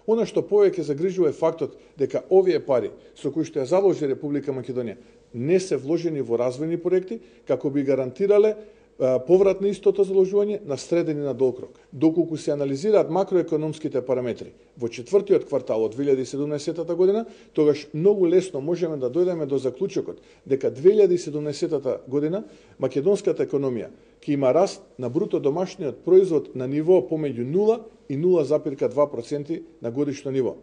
Она што повеќе загрижува е фактот дека овие пари со кои што ја заложи Република Македонија не се вложени во развојни проекти како би гарантирале поврат на истото заложување на среден и на долг рок. Доколку се анализираат макроекономските параметри во четвртиот квартал од 2017 година, тогаш многу лесно можеме да дојдеме до заклучокот дека 2017 година македонската економија ќе има раст на бруто домашниот производ на ниво помеѓу 0 и 0,2% на годишно ниво.